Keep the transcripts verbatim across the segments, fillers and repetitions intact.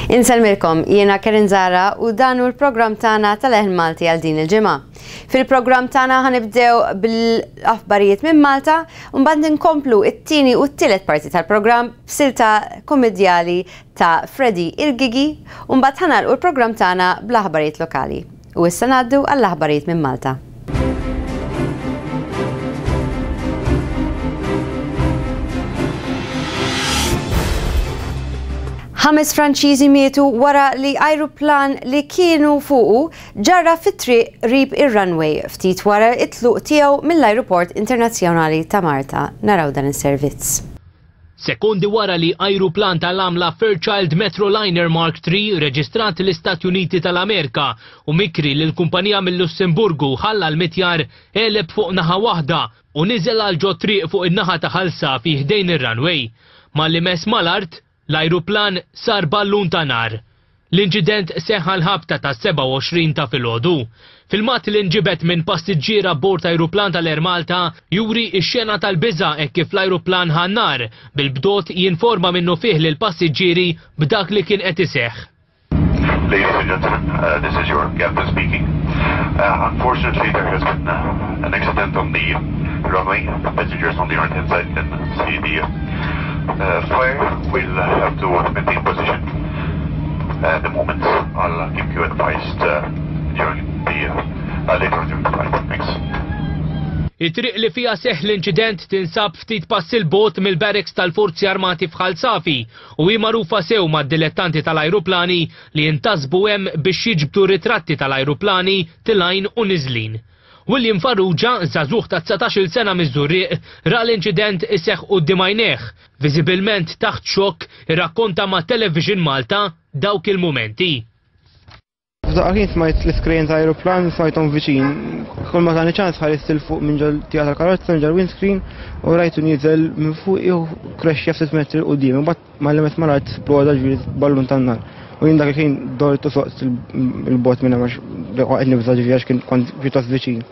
Insellmilkom, jiena Kerin Zara u dan hu l-programm tagħna tal-Leħen Malti għal din il-ġimgħa. Fil-programm tagħna ħa nibdew bil-aħbarijiet minn Malta u mbagħad nkomplu it-tieni u t-tielet parti tal-programm b'silta komedjali ta' Freddy il-Gigi u mbagħad ħa nagħlqu l-programm tagħna bl-aħbarijiet lokali. U issa ngħaddu għall-aħbarijiet minn Malta. Ħames Franċiżi mietu wara li ajruplan li kienu fuqu ġarra fit-triq qrib ir-runway ftit wara it-tluq tiegħu mill-Ajruport Internazzjonali ta' Malta. Naraw dan is-servizz. Sekondi wara li ajruplan tal-għamla Fairchild Metroliner Mark three reġistrat l-Istati Uniti tal-Amerika u mikri lil kumpanija mill-Lussemburgu ħalla l-mitjar għeleb fuq naħa waħda u niżel għal ġo triq fuq in-naħa ta' Ħal Safi ħdejn ir-runway. Malli mess mal-art, l-ajruplan sar ballun ta' nar. L-inċident seħħa l-ħabta ta' sebgħa u għoxrin ta' filgħodu. Filmat li nġibet minn passiġġier abbord ajruplan tal-Air Malta juri x-xena tal-biża' hekk kif l-ajruplan ħa nar, bil-bdot jinforma minnu fih lil passiġġieri b'dak li kien qed iseħħ. Ladies and gentlemen, uh, this is your captain speaking. Uh, unfortunately, there has been, uh, an accident on the runway. The passengers on the right-hand side can see the, uh, fire. We'll have to maintain position at the moment. I'll keep you advised, uh, during the, uh, later during the flight. Thanks. It-triq li fija seħ l-inċident tinsab ftit pass il-bot mill-barracks tal-Forzi Armati f'Ħal Safi u hi magħrufa sew mad-dilettanti tal-ajruplani li jintasbu hemm biex jiġbdu ritratti tal-ajruplani tilgħin u niżlin. William Farrugia, żagħżugħ ta' dsatax-il sena miż-Żurrieq, ra l-inċident iseħħ quddiem għajnejh. Viżibilment taħt xokk, irrakkonta ma' Television Malta dawk il-mumenti. F'daqqa kien smajt l-iskrin ta' aeroplan, smajthom viċin. Kull ma tani ċans ħarist il fuq minn ġol tija tal-karozza, minn ġol windscreen, u rajtu nieżel minn fuq jew crashja ftit metri quddiem. Imbagħad mal-limit mal-art sploda ġifieri ballun tan-nar. U jien dak il-ħin dort u soqt il-bot minn hemm għax waqgħet nibża' ġifieri għax kien kont pjuttost viċin.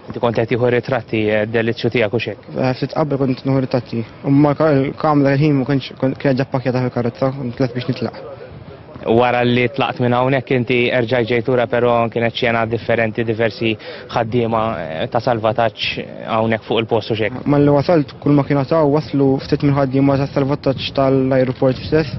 Inti kont qed tieħu ritratti, eh, delizzju tiegħek u x'hekk? Eh, ftit qabel kont nieħu ritratti. U ma l-kamra dak il-ħin ma kontx, kont kienet ġa ppakkjata fil-karozza, kont lest biex nitlaq. Wara li tlaqt minn hawnhekk inti erġajt ġejt lura, però kienet xena differenti, diversi ħaddiema, eh, ta' salvataġġ hawnhekk fuq il-post u x'hekk. Malli wasalt kull ma kienu taw waslu ftit minn ħaddiema ta' salvataġġ tal-ajruport stess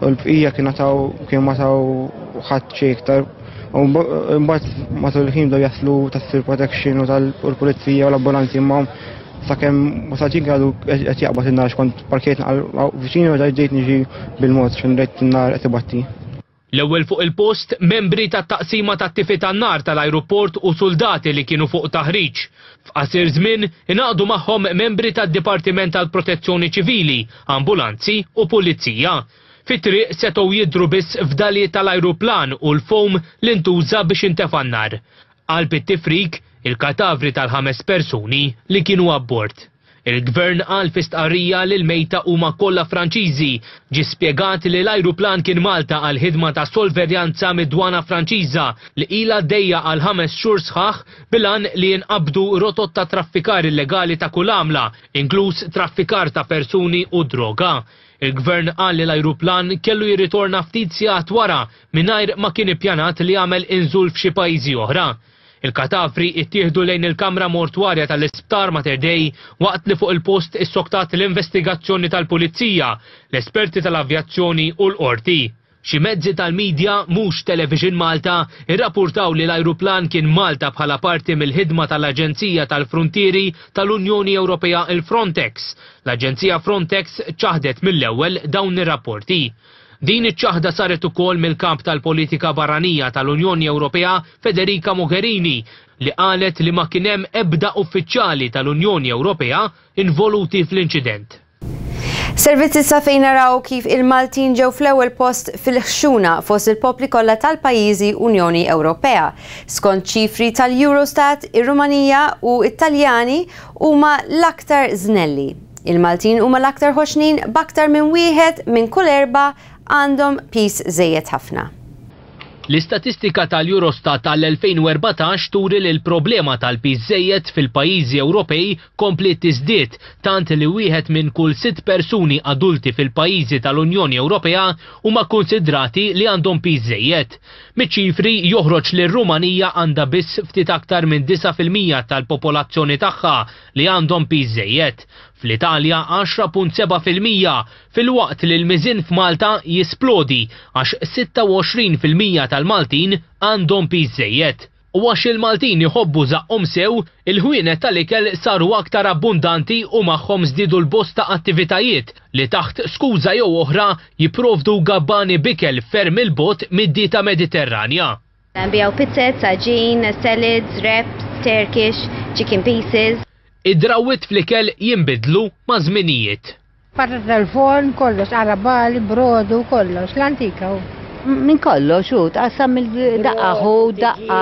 u l-bqija kienu taw kienu ma taw ħadd xejn iktar. U mbagħad matul il-ħin bdew jaslu tas-civil protection u tal-pulizija u l-ambulanzi imma sakemm wasalt jien għadu qed jaqbad in-nar kont parkejt naqal viċin u ġejt niġi bil-mod x'in rajt in-nar qed ibatti. L-ewwel fuq il-post, membri tat-taqsima tat-tifi tan-nar tal-ajruport u soldati li kienu fuq taħriġ. F'qasir żmien ingħaqdu magħhom membri tad-Dipartiment tal-Protezzjoni Ċivili, ambulanzi u pulizija. Fit-triq setgħu jidhru biss fdalijiet tal-ajruplan u l-foam li ntuża biex intefa' n-nar. Qalb it-tifrik, il-katavri tal-ħames persuni li kienu abbord. Il-gvern qal fi stqarrija li l-mejta huma kollha Franċiżi. Ġie spjegat li l-ajruplan kien Malta għal ħidma ta' solverjanza mid-dwana Franċiża li ilha għaddejja għal ħames xhur sħaħ bil-għan li jinqabdu rotot ta' traffikar illegali ta' kull għamla, inkluż traffikar ta' persuni u droga. Il-gvern qal li l-ajruplan kellu jirritorna ftit sigħat wara mingħajr ma kien ippjanat li jagħmel inżul f'xi pajjiżi oħra. Il-katavri ittieħdu lejn il-kamra mortwarja tal-Isptar Mater Dei waqt li fuq il-post issoktat l-investigazzjoni tal-Pulizija, l-esperti tal-avjazzjoni u l-qorti. Xi mezzi tal-medja mhux Television Malta irrapportaw li l-ajruplan kien Malta bħala parti mill-ħidma tal-Aġenzija tal-Frontieri tal-Unjoni Ewropea il-Frontex. L-Aġenzija Frontex ċaħdet mill-ewwel dawn ir-rapporti. Din iċ-ċaħda saret ukoll mill-kamp tal-politika barranija tal-Unjoni Ewropea Federica Mogherini li qalet li ma kien hemm ebda uffiċjali tal-Unjoni Ewropea involuti fl-inċident. Servizzi sa fejn naraw kif il-Maltin ġew fl-ewwel post fil-ħxuna fost il-popli kollha tal-pajjiżi Unjoni Ewropea. Skont ċifri tal-Eurostat, ir-Rumanija u it-Taljani huma l-aktar żnelli. Il-Maltin huma l-aktar ħoxnin b'aktar minn wieħed minn kull erba' għandhom pis żejjed ħafna. L-istatistika tal-Eurostat tal-elfejn u erbatax turi li l-problema tal-piż żejjed fil-pajjiżi Ewropej kompliet tiżdied, tant li wieħed minn kull sitt persuni adulti fil-pajjiżi tal-Unjoni Ewropea huma konsidrati li għandhom piż żejjed. Miċ-ċifri joħroġ li r-Rumanija għandha biss ftit aktar minn disa' fil-mija tal-popolazzjoni tagħha li għandhom piż żejjed. Fl-Italja għaxra punt seba' fil-mija, filwaqt li l-miżien f'Malta jisplodi għax sitta u għoxrin fil-mija tal-Maltin għandhom piż żejjed. U għax il-Maltin iħobbu żaqqhom sew, il-ħwienet tal-ikel saru aktar abbundanti u magħhom żdiedu l-bosta attivitajiet li taħt skuża jew oħra jipprovdu gabbani b'ikel ferm il-bogħod mid-dieta Mediterranja. Nbiegħu pizzet, għaġin, salads, wraps, Turkish, chicken pieces. Id-drawwiet fl-ikel jinbidlu ma' żminijiet. Patata tal-forn, kollox, arabali, brodu, kollox, l-antika hu. Min kollox, hu, tqassam il-daqqa hu, daqqa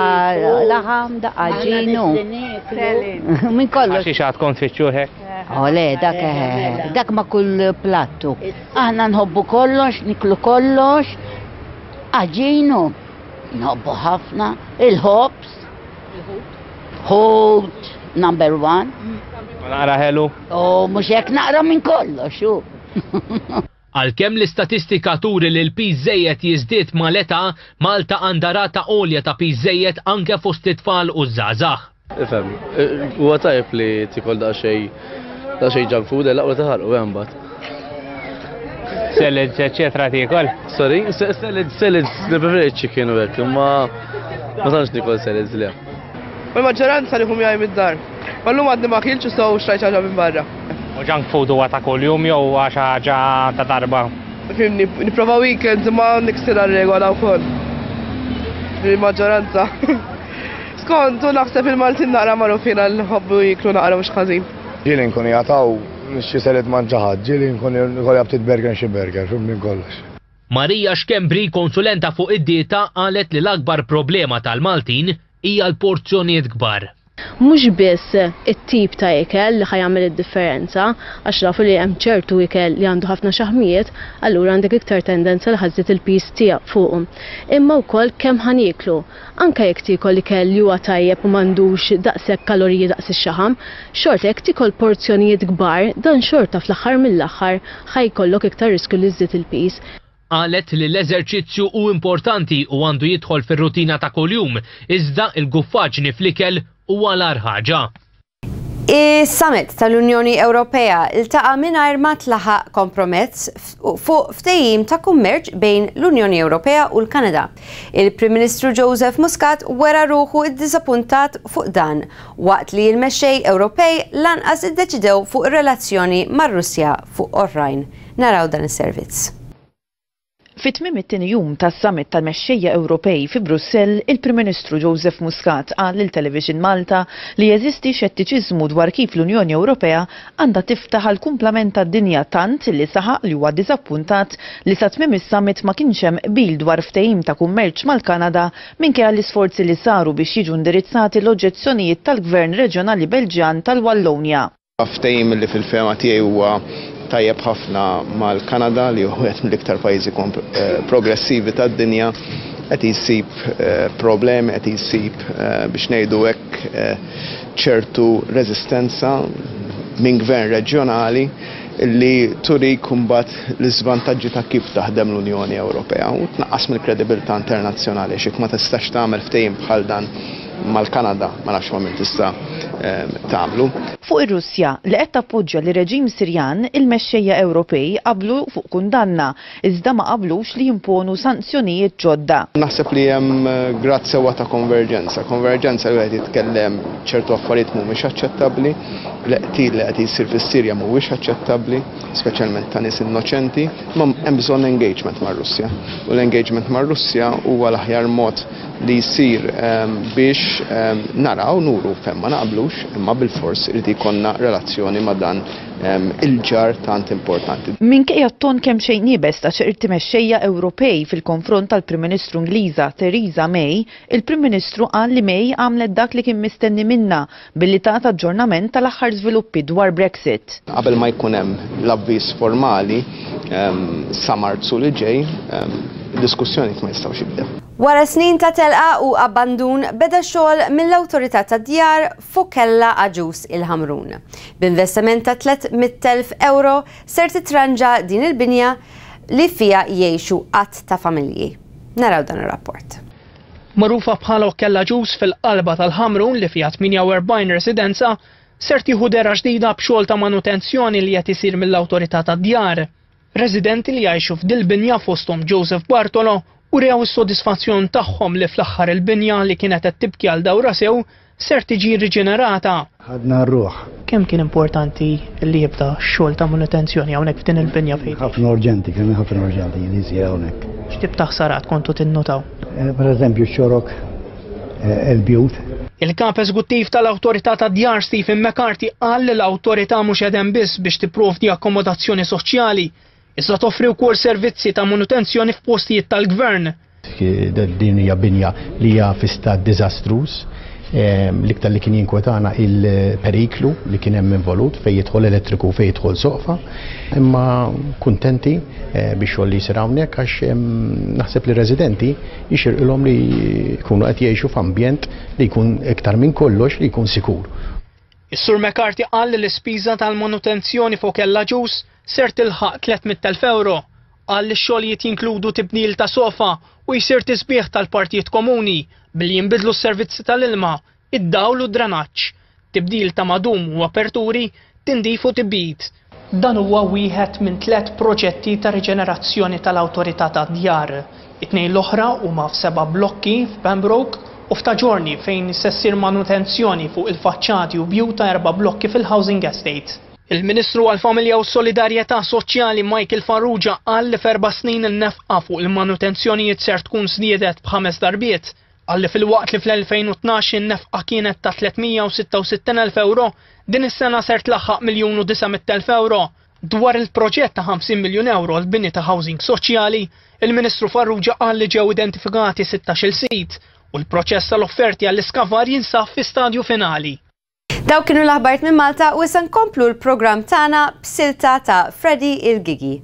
laħam, daqqa ġinu. Min kollox. Għax xi għadkom tfittxu hekk? Oh, le, dak, eh, dak ma' kull plattu. Aħna nħobbu kollox, niklu kollox, għaġinu, nħobbu ħafna, il-ħobż, ħut, number one. Ma naqra ħelu? Oh, mhux hekk naqra minn kollox, hu. Għalkemm l-istatistika turi li l-piż żejjed jiżdied mal-età, Malta għandha rata għolja ta' piż żejjed anke fost it-tfal u żgħażagħ. Ifhem, huwa tajjeb li tikol daqsxejn, daqsxejn junk food, l-aqwa taħarqu hemm mbagħad. Salads, eċetera tiekol? Sorry, salads, salads, nippreferi chicken u hekk, imma ma tantx nikol salads le. U l-maġġoranza li hum jgħid mid-dar. Ma llum għadni ma kilx u sew xtrajt ħaġa minn barra. U junk food huwa ta' kuljum jew huwa xi ħaġa ta' darba? Fimni, nipprova weekends imma niksirha r-regola wkoll. Il-maġġoranza. Skont, u naħseb il-Maltin naqra magħrufin għal ħobbu jiklu naqra mhux ħażin. Ġieli nkun jagħtaw xi salad ma' ġaħad, ġieli nkun ikolli ftit burger xi burger, fimni kollox. Marija Schembri, konsulenta fuq id-dieta, qalet li l-akbar problema tal-Maltin hija l-porzjonijiet kbar. Mhux biss it-tip ta' ikel li ħajamel id-differenza, għax nafu li hemm ċertu ikel li għandu ħafna xaħmijiet, allura għandek iktar tendenza li ħażżid il-piż tiegħek fuqhom. Imma wkoll kemm ħaniklu. Anke jekk tiekol ikel li huwa tajjeb u m'għandux daqshekk kaloriji daqs ix-xaħam, xorta jekk tiekol porzjonijiet kbar, dan xorta fl-aħħar mill-aħħar ħajkollok iktar riskju li żżid il-piż. Qalet li l-eżerċizzju hu importanti u għandu jidħol fir-rutina ta' kuljum, iżda l-guffaġni fl-ikel huwa l-agħar ħaġa. Is-summit tal-Unjoni Ewropea iltaqa' mingħajr ma tlaħaq kompromess fuq ftehim ta' kummerċ bejn l-Unjoni Ewropea u l-Kanada. Il-Prim Ministru Joseph Muscat wera ruħu iddiżappuntat fuq dan, waqt li l-mexxej Ewropej lanqas iddeċidew fuq ir-relazzjoni mar-Russja fuq oħrajn. Naraw dan is-servizz. Fi tmiem it-tieni jum tas-summit tal-mexxejja Ewropej fi Brussell, il-Prim Ministru Joseph Muscat qal lil Television Malta li jeżisti xettiċiżmu dwar kif l-Unjoni Ewropea għandha tiftaħ għal kumplament tad-dinja, tant li saħaq li huwa diżappuntat li sa tmiem is-summit ma kienx hemm qbil dwar ftehim ta' kummerċ mal-Kanada minkejja l-isforzi li saru biex jiġu indirizzati l-oġġezzjonijiet tal-Gvern Reġjonali Belġjan tal-Wallonja. Ftehim li fil-fehma tiegħi huwa tajjeb ħafna mal-Kanada, li hu wieħed mill-iktar pajjiżi eh, progressivi tad-dinja, qed jsib, eh, problemi, qed jsib, eh, biex ngħidu hekk, eh, ċertu reżistenza minn gvern reġjonali li turi kumbat l-iżvantaġġi ta' kif taħdem l-Unjoni Ewropea u tnaqqas mill-kredibilità internazzjonali, x'jekk ma tistax tagħmel ftehim bħal dan mal-Kanada, ma nafx ma min tista', ehm, tagħmlu. Fuq ir-Russja li qed tappoġġja lir-reġim Sirjan, il-mexxejja Ewropej qablu fuq kundanna, iżda ma qablux li jimponu sanzjonijiet ġodda. Naħseb li hemm, eh, grad sewwa ta' konverġenza. Konverġenza li wieħed jitkellem ċertu affarijiet mhumiex aċċettabbli, l-qtil li qed jsir fis-Sirja mhuwiex aċċettabbli, speċjalment ta' nies innoċenti, ma hemm bżonn engagement mar-Russja. U l-engagement mar-Russja huwa l-aħjar mod li jsir, ehm, biex, ehm, naraw nuru fejn ma naqblux, imma bil-fors irid ikollna relazzjoni ma' dan, ehm, il-ġar tant importanti. Minkejja t-ton kemm xejn iebes ta' ċerti mexxejja Ewropej fil-konfront tal-Prim Ministru Ingliża Theresa May, il-Prim Ministru qal li May għamlet dak li kien mistenni minnha billi tat aġġornament tal-aħħar żviluppi dwar Brexit. Qabel ma jkun hemm l-avviż formali, ehm, sa Marzu li ġej, ehm, diskussjoni ma jistgħux jibdew. Wara snin ta' telqa u abbandun beda xogħol mill-Awtorità tad-Djar f'Okkella Agius il-Ħamrun. B'investiment ta' tliet mitt elf euro ser titranġa din il-binja li fija jgħixu qatt ta' familji. Naraw dan ir-rapport. Magħrufa bħala Okkella Agius fil-qalba tal-Ħamrun li fija tmienja u erbgħin residenza, ser tieħu dehra ġdida b'xogħol ta' manutenzjoni li qed isir mill-Awtorità tad-Djar. Residenti li jgħixu f'dil-binja fosthom Joseph Bartolo u rew is-sodisfazzjon tagħhom li fl-aħħar il-binja li kienet qed tibki għal dawra sew ser tiġi riġenerata. Ħadna r-ruħ. Kemm kien importanti li jibda x-xogħol ta' manutenzjoni hawnhekk f'din il-binja fejn? Ħafna urġenti, kien ħafna urġenti li jsir hawnhekk. X'tip ta' ħsarat kontu tinnotaw? Eh, per eżempju x-xorok, eh, il-bjut. Il-kap eżekuttiv tal-Awtorità tad-Djar Stephen McCarthy qal li l-awtorità mhux qegħdem biss biex tipprovdi akkomodazzjoni soċjali, iżda toffri wkoll servizzi ta' manutenzjoni f'postijiet tal-gvern. Din hija binja li hija fi stat diżastruż. L-iktar li kien jinkwetana il-periklu li kien hemm involut fejn jidħol elettriku fejn jidħol soqfa. Imma kuntenti biex xogħol li jsir hawnhekk għax naħseb li residenti jixirqilhom li jkunu qed jgħixu f'ambjent li jkun iktar minn kollox li jkun sikur. Is-Sur McCarthy qal li l-ispiża tal-manutenzjoni fuq Okkella Agius ser tilħaq tliet mitt elf euro. Qal li x-xogħlijiet jinkludu tibdil ta' sofa u jsir tisbieħ tal-partijiet komuni billi jinbidlu s-servizzi tal-ilma, id-dawl u d-drenaġġ, tibdil ta' madum u aperturi, tindif u tibdid. Dan huwa wieħed minn tliet proġetti ta' riġenerazzjoni tal-Awtorità tad-Djar. It-tnejn l-oħra huma f'seba' blokki f'Pembroke u f'Ta' Ġiorni fejn se ssir manutenzjoni fuq il-faċċati u bjut ta' erba' blokki fil-Housing Estate. Il-Ministru għall-Familja u Solidarjetà Soċjali Michael Farrugia qal li f'erba' snin in-nefqa fuq il-manutenzjonijiet ser tkun żdiedet b'ħames darbiet. Qal li filwaqt li fl-elfejn u tnax in-nefqa kienet ta' tliet mija u sitta u sittin elf euro, din is-sena ser tlaħħaq miljun u disa' mitt elf euro. Dwar il-proġett ta' ħamsin miljun euro l-bini ta' housing soċjali, il-Ministru Farrugia qal li ġew identifikati sittax-il sit u l-proċess tal-offerti għall-iskavar jinsab fi stadju finali. Dawk kienu l-aħbarijiet minn Malta u issa nkomplu l-programm tagħna b'silta ta' Freddy il-Gigi.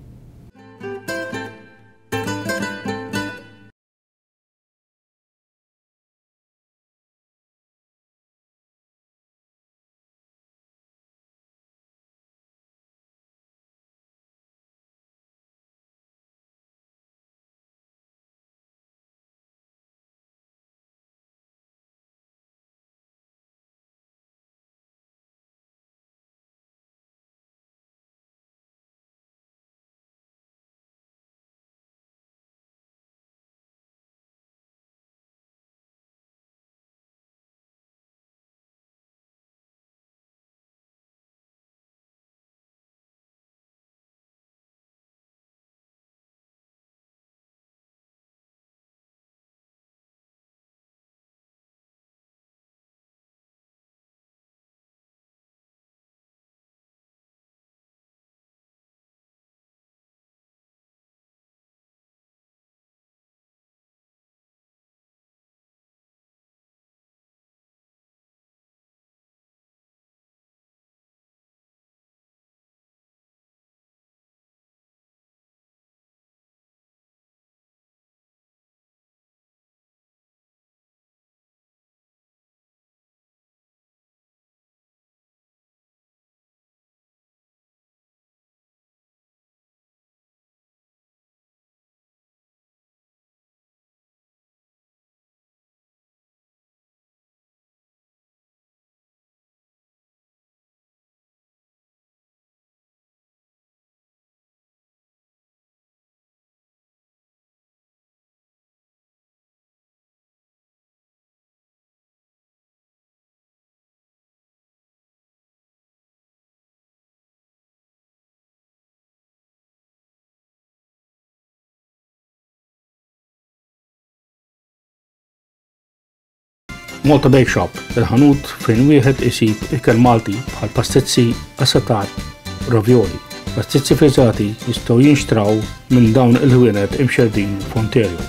Malta Bake Shop, il-ħanut fejn wieħed isib ikel Malti bħal pastizzi, assatar, ravioli. Pastizzi frizzati jistgħu jinxtraw minn dawn il-ħwienet imxerdin f'Ontario.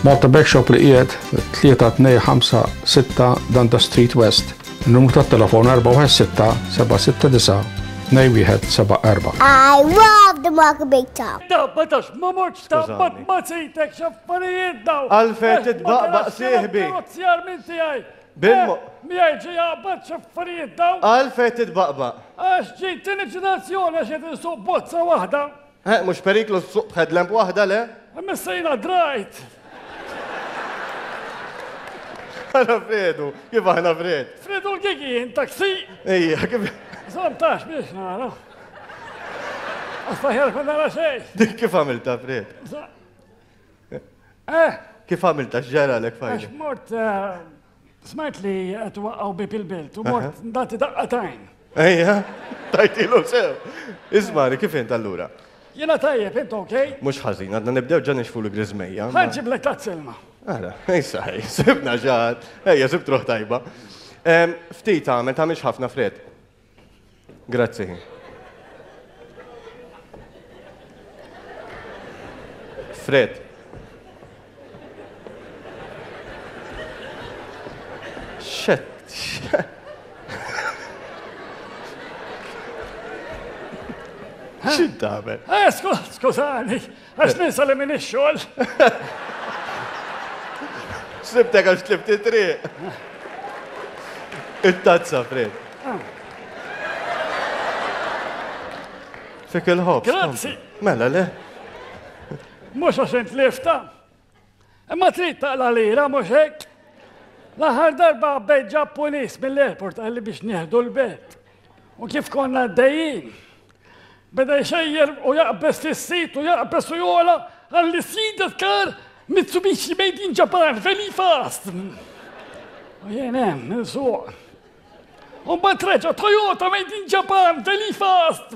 Malta Bake Shop li qiegħed tlieta tnejn ħamsa sitta Dundas Street West. Il-numru tat-telefon erba' wieħed sitta seba' sitta disa' tnejn wieħed seba' erbgħa. I love the Malta Bake Shop. Tabbatax, ma mortx tabbat ma sejtek x'affarijiet daw. Għalfejn titbaqbaq sieħbi. Karozzi minn tiegħi. Bil-mo- Miegħi ġi jaqbad x'affarijiet daw. Għalfejn titbaqbaq. Għax ġejt tieni ġenerazzjoni għax qed insuq bozza waħda. Eh, mhux periklu ssuq b'headlamp waħda le? Imma sejna drajt. Għana Fredu, kif aħna Fred? Fredu l-gigi, jien taksi. Ejja, kif. Zomtax biex nara. Astaħjar ma nara xejn. Dik kif għamilta, Fred? Eh? Kif għamilta x'ġara lek Għax fajli? mort, eh, smajt li qed waqqgħu bib il-belt u mort nagħti daqqatajn. Ejja, tajtilu sew. Ismani, kif int allura? Jiena tajjeb, int okej? Mhux ħażin, għadna nibdew ġa nixfu l-griżmejja. Ħa nġiblek tazza ilma. Ara, issa ħej, sibna ġat, ejja, sibt ruħ tajba. Em, Ftit għamel, tagħmilx ħafna Fred. Grazzi. Fred. Xet, xet. X'int tagħmel? Eh, skużani, għax ninsa li minn ix-xogħol. Sibtek għax tlift it-triq. It-tazza, Fred. Fik il-ħobż. Grazzi. Mela, le? Mhux għax int lifta. Imma trid taqla lira, mhux hekk. L-aħħar darba bejt Ġappunis mill-airport qalli biex nieħdu l-belt. U kif konna għaddejjin, beda jxejjer u jaqbes fis-sit u jaqbes u jola qalli see that car Mitsubishi made in Japan, very fast. U jien hemm, nsuq. U mbagħad reġa' Toyota made in Japan, very fast.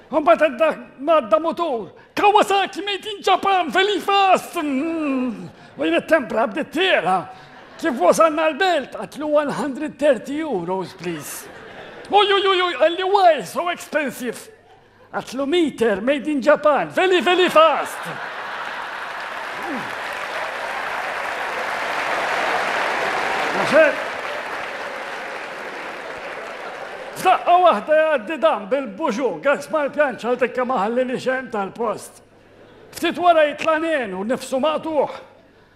U mbagħad għadda għadda motor, Kawasaki made in Japan, very fast. U jien it-tempra bdiet tiela. Kif wasalna l-belt, għedtlu one hundred thirty euros, please. Uj, uj, uj, uj, qalli why so expensive? Għedtlu meter made in Japan, very, very fast. Għaxek. F'daqqa waħda jgħaddi dan bil-Peugeot, gas mal-pjanċa għal tikka maħalli li xem tal-post. Ftit wara jitla' nen u nifsu maqtugħ.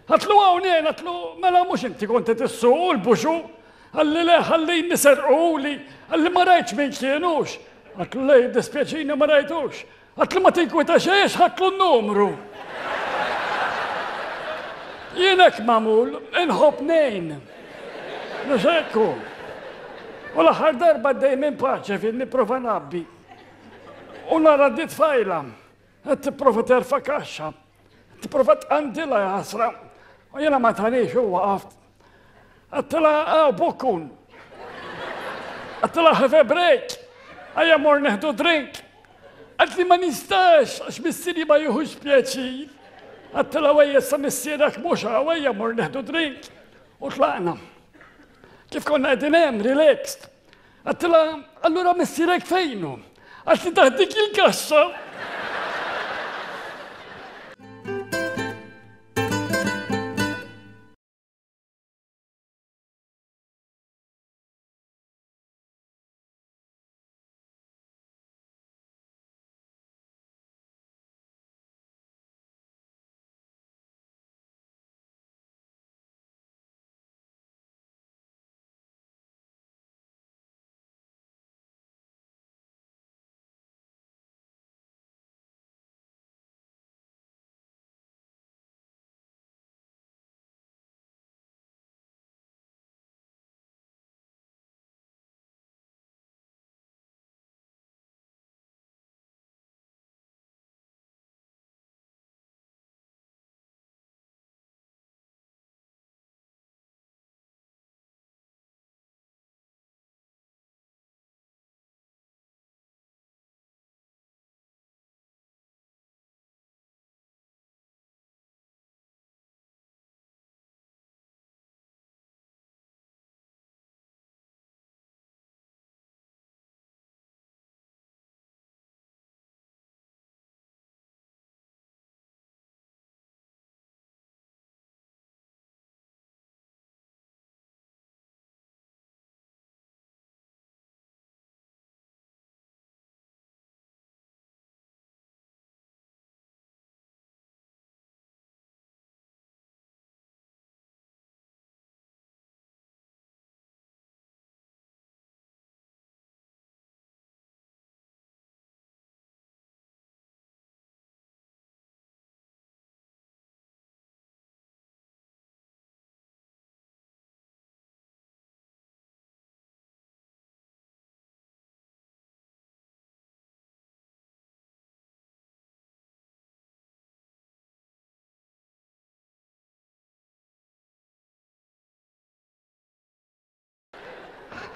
Għedtlu hawn, għedtlu mela mhux inti konti tissuq l-Peugeot. Qalli le ħalli nisirquli, qalli ma rajtx min kienux. Għedtlu le dispjaċini ma rajtux. Għedtlu ma tinkwita xejn, għedtlu n-numru. Jien hekk magħmul, inħobb ngħin. Mhux hekk. U l-aħħar darba għaddej minn Paċeville nipprova ngħabbi. U nara di tfajla, qed tipprova terfa' kaxxa, tipprova tqandilha jasra. U jiena ma tanix u waqaft. Għedtilha għaw bukkun. Għedtilha have a break. Ejja mmorru nieħdu drink. Qaltli ma nistax, għax missieri ma jieħux pjaċir. Għedtilha ejja sa missierek mhux hawn, ejja mmorru nieħdu drink. U tlaqna. Kif konna qegħdin hemm, relaxed. Għedtilha, allura missierek fejnu? Qaltli taħt dik il-kaxxa.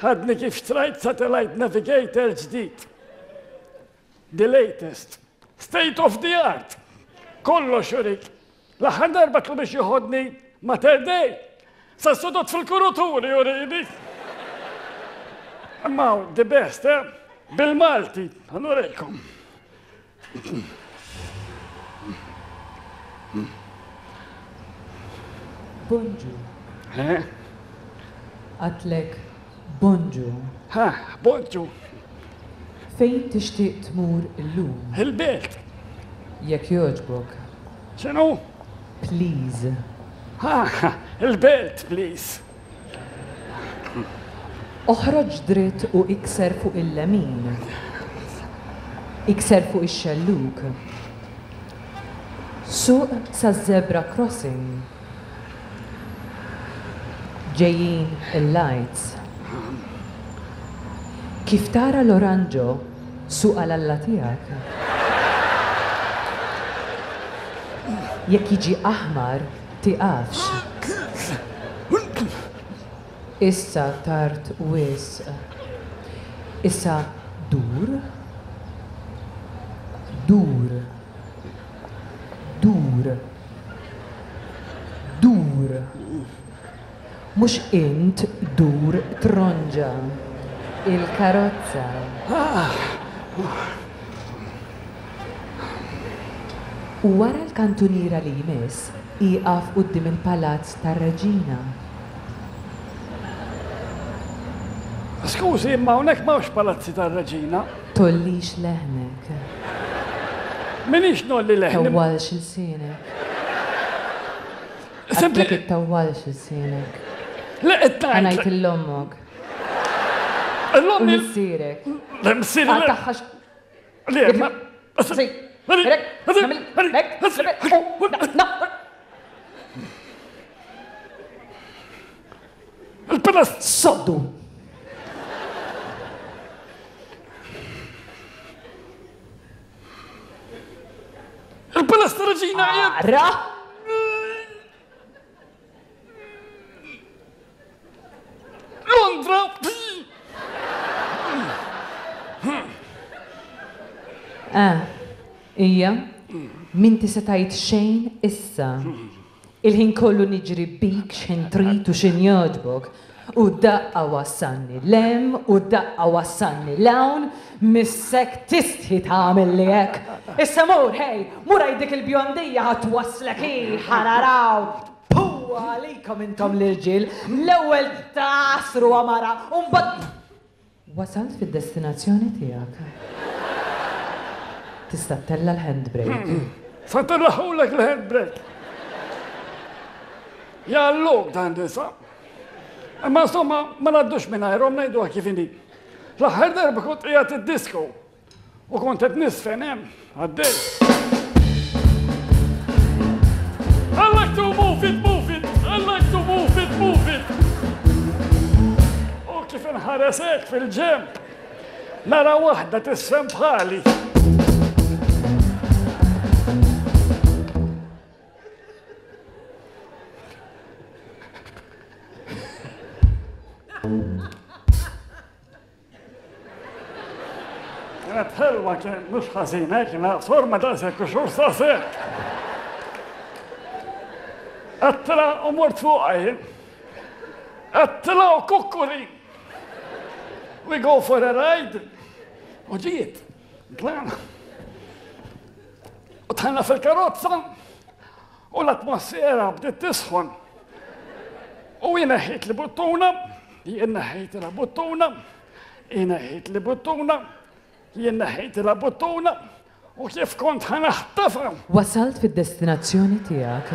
Għadni kif xtrajt satellite navigator ġdid. The latest. State of the art. Kollox jurik. L-aħħar darba tlu biex joħodni Mater Dei. Sa sodot fil-kuruturi jurini. Imma the best, eh? Bil-Malti. Ħa nurikom. Bonġu. Eh? Għedtlek bonġu. Ha, bonġu. Fejn tixtieq tmur illum? Il-belt. Jekk jogħġbok. X'inhu? Please. Ha, il-belt, please. Oħroġ dritt u ikser fuq il-lemin. Ikser fuq ix-xelluk. Suq sa zebra crossing. Ġejjin il-lights. Kif tara l-oranġo, suq għal Alla tiegħek. Jekk jiġi aħmar, tiqafx. Issa tard wisq. Issa dur. Dur. Dur. Dur. Mhux int dur tronġa. Il-karozza. U wara l-kantuniera li jmiss, ieqaf quddiem il-palazz tar-Reġina. Skużi, imma hawnhekk m'hawnx palazzi tar-Reġina. Tgħollix leħnek. M'iniex ngħolli leħni. Tawwalx ilsienek. Għedtlek ittawwalx ilsienek. Le, qed Ħa ngħid lil ommok. L-ommi. U missierek. Le, missieri. Għal Le, ma. Il-palazz. Soddu! Il-palazz tar-Reġina. Ara! Londra! Ah, ija, m'inti se tgħid xejn issa. Il-ħin kollu niġri bik x'ħin trid u x'ħin jogħġbok. U daqqa wassalni 'l hemm, u daqqa wassalni 'l hawn, missek tistħi tagħmel li hekk. Issa mur, hej, mur għid dik il-bjondija ħa twasslek hi, ħa naraw. Pu għalikom intom l-irġiel, l-ewwel tasru għamara, u mbagħad wasalt fid-destinazzjoni tiegħek. Tista' ttella' l-handbrake. Sa ntellagħhulek l-handbrake. Jalluk dan nisa. Imma insomma, ma ngħaddux mingħajrhom ngħiduha kif inhi. L-aħħar darba kont qiegħed id-disco u kont qed nisfen hemm għaddej. I like to move it, move it, I like to move it, move it. U kif inħares hekk fil-ġenb, nara waħda tisfen bħali. Kienet ħelwa kien mhux ħażina, kienet forma daqshekk u xhur sasek. Għedtilha u mort fuqha jien. Għedtilha u kukkuri. We go for a ride. U ġiet, tlaqna. U dħalna fil-karozza u l-atmosfera bdiet tisħon. U jien neħħejt li buttuna, jien neħħejt la buttuna, jien neħħejt li buttuna, jien neħħejt la buttuna, u kif kont ħa naħtafha. Wasalt fid-destinazzjoni tiegħek.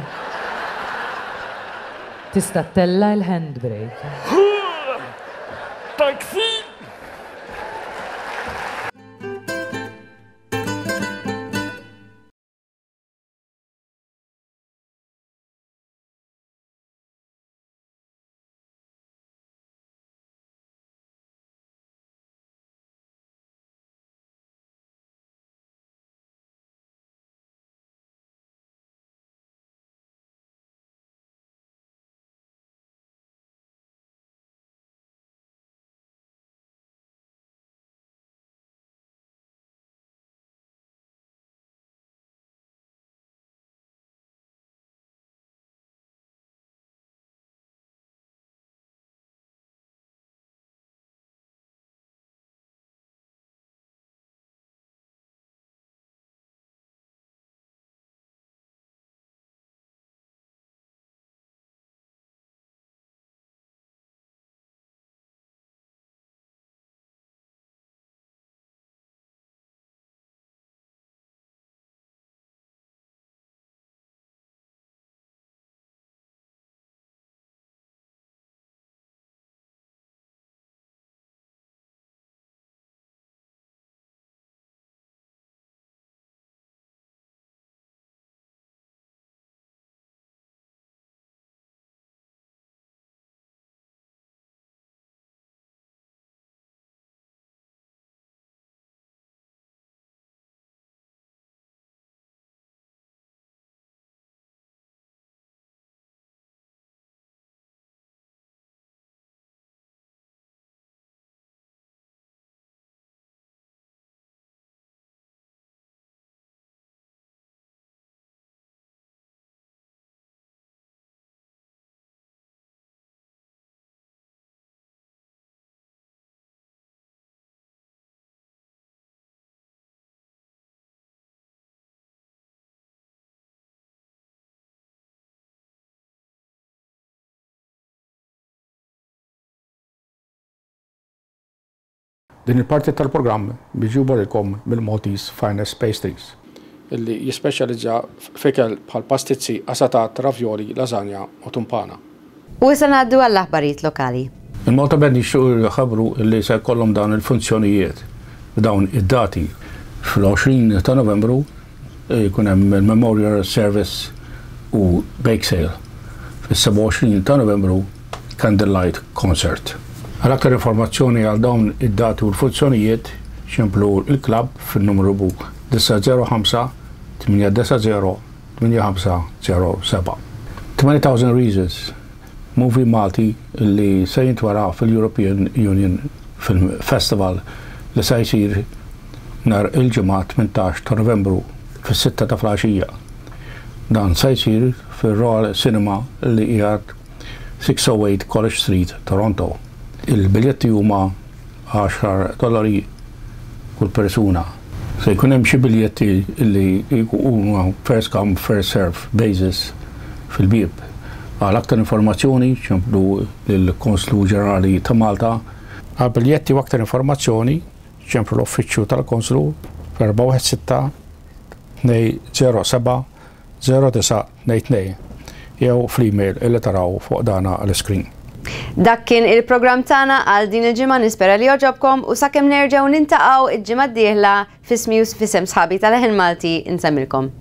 Tista' ttella' l-handbrake. Taxi! Din il-parti tal-programm miġjuba lilkom mill-Maltese Finest Pastries, illi jispeċjalizza f'ikel bħal pastizzi, qasatat, ravioli, lasagna u tumpana. U issa ngħaddu għall-aħbarijiet lokali. Il-Malta Band jixtiequ jħabbru illi se jkollhom dawn il-funzjonijiet f'dawn id-dati. Fl-għoxrin ta' Novembru jkun hemm il-Memorial Service u Bake Sale. Fis-sebgħa u għoxrin ta' Novembru Candlelight Concert. Għal aktar informazzjoni għal dawn id-dati u l-funzjonijiet ċemplu il-klabb fin-numru disgħa żero ħamsa tmienja disgħa żero tmienja ħamsa żero sebgħa. twenty thousand Reasons, movie Malti li se jintwara fil-European Union Film Festival li se jsir nhar il-Ġimgħa tmintax ta' Novembru fis-sitta ta' filgħaxija. Dan se jsir fil-Royal Cinema li qiegħed six oh eight College Street, Toronto. Il-biljetti huma għaxar dollari kull persuna. Se jkun hemm xi biljetti li huma first come first serve basis fil-bieb. Għal aktar informazzjoni ċemplu lill-Konslu Ġenerali ta' Malta. Għal biljetti u aktar informazzjoni ċemplu l-Uffiċċju tal-Konslu fl-erba' wieħed sitta tnejn żero seba' żero disgħa tnejn tnejn jew fl-email illi taraw fuq dana l-screen. Dak kien il-programm tagħna għal din il-ġimgħa. Nispera li għoġobkom u sakemm nerġgħu niltaqgħu il-ġimgħa d-dieħla, f'ismi u f'isem sħabi tal-Leħen Malti nsellmilkom.